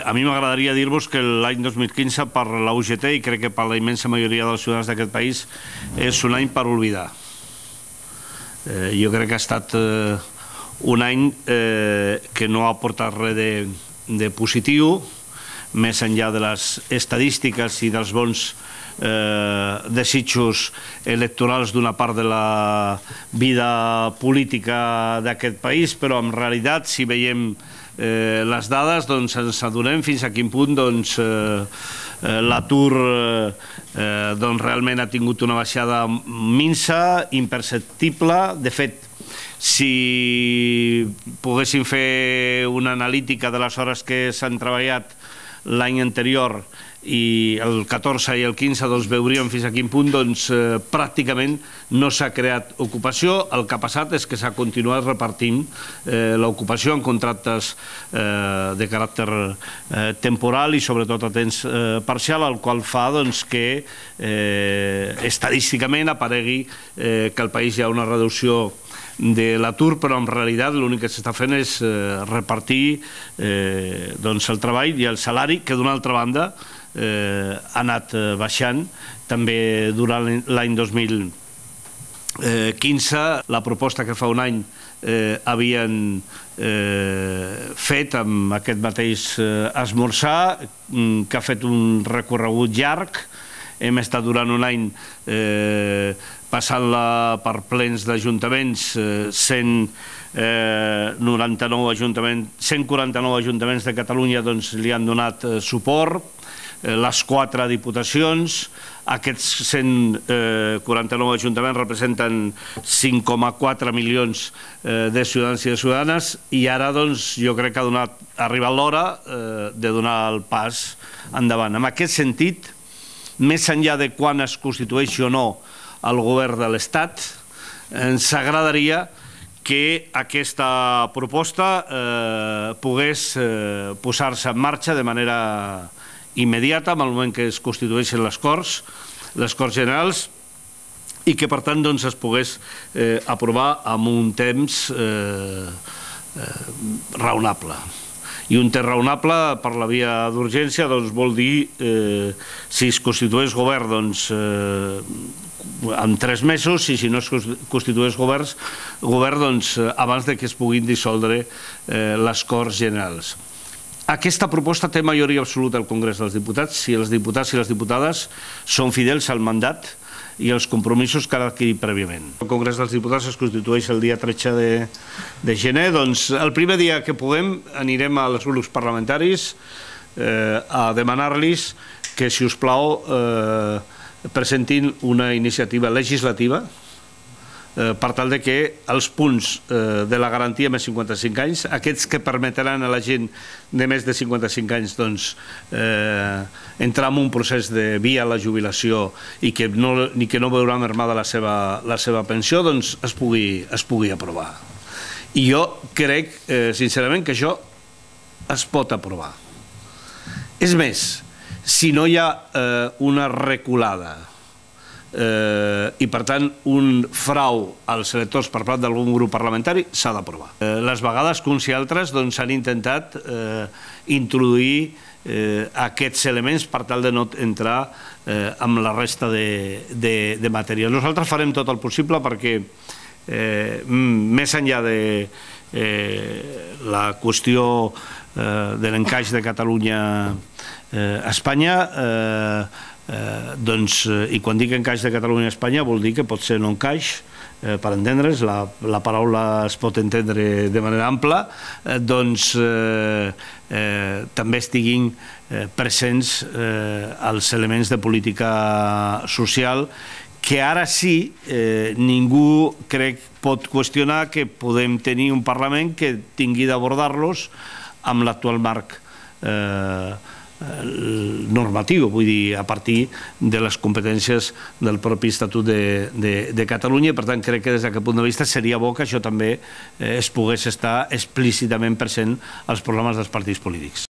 A mi m'agradaria dir-vos que l'any 2015 per la UGT i crec que per la immensa majoria dels ciutadans d'aquest país és un any per oblidar. Jo crec que ha estat un any que no ha aportat res de positiu, més enllà de les estadístiques i dels bons desitjos electorals d'una part de la vida política d'aquest país, però en realitat, si veiem les dades, ens adonem fins a quin punt l'atur realment ha tingut una baixada minsa, imperceptible. De fet, si poguéssim fer una analítica de les hores que s'han treballat l'any anterior i el 14 i el 15 veuríem fins a quin punt pràcticament no s'ha creat ocupació. El que ha passat és que s'ha continuat repartint l'ocupació en contractes de caràcter temporal i sobretot a temps parcial, el qual fa que estadísticament aparegui que al país hi ha una reducció de l'atur, però en realitat l'únic que s'està fent és repartir el treball i el salari, que d'una altra banda ha anat baixant també durant l'any 2015. La proposta que fa un any havien fet amb aquest mateix esmorzar, que ha fet un recorregut llarg. Hem estat durant un any passant-la per plens d'ajuntaments, 149 ajuntaments de Catalunya li han donat suport, les 4 diputacions. Aquests 149 ajuntaments representen 5,4 milions de ciutadans i de ciutadanes i ara jo crec que ha arribat l'hora de donar el pas endavant. En aquest sentit, més enllà de quan es constitueixi o no el govern de l'Estat, ens agradaria que aquesta proposta pogués posar-se en marxa de manera immediata en el moment que es constitueixen les Corts Generals, i que per tant es pogués aprovar amb un temps raonable. I un temps raonable per la via d'urgència vol dir, si es constitueix govern, en 3 mesos, i si no es constitueix govern, abans que es puguin dissoldre les Corts Generals. Aquesta proposta té majoria absoluta al Congrés dels Diputats si els diputats i les diputades són fidels al mandat i els compromisos que han adquirit prèviament. El Congrés dels Diputats es constitueix el dia 13 de gener. El primer dia que puguem anirem als grups parlamentaris a demanar-los que, si us plau, presentin una iniciativa legislativa per tal que els punts de la garantia més 55 anys, aquests que permetran a la gent de més de 55 anys entrar en un procés de via a la jubilació i que no veurà mermada la seva pensió, es pugui aprovar. I jo crec, sincerament, que això es pot aprovar. És més, si no hi ha una reculada i per tant un frau als electors per part d'algun grup parlamentari, s'ha d'aprovar. Les vegades que uns i altres han intentat introduir aquests elements per tal de no entrar amb la resta de matèria. Nosaltres farem tot el possible perquè, més enllà de la qüestió de l'encaix de Catalunya a Espanya, i quan dic encaix de Catalunya a Espanya vol dir que pot ser no encaix, per entendre's, la paraula es pot entendre de manera ampla, també estiguin presents els elements de política social que ara sí ningú, crec, pot qüestionar que podem tenir un Parlament que tingui d'abordar-los amb l'actual marc normatiu, vull dir, a partir de les competències del propi Estatut de Catalunya. Per tant, crec que des d'aquest punt de vista seria bo que això també es pogués estar explícitament present als programes dels partits polítics.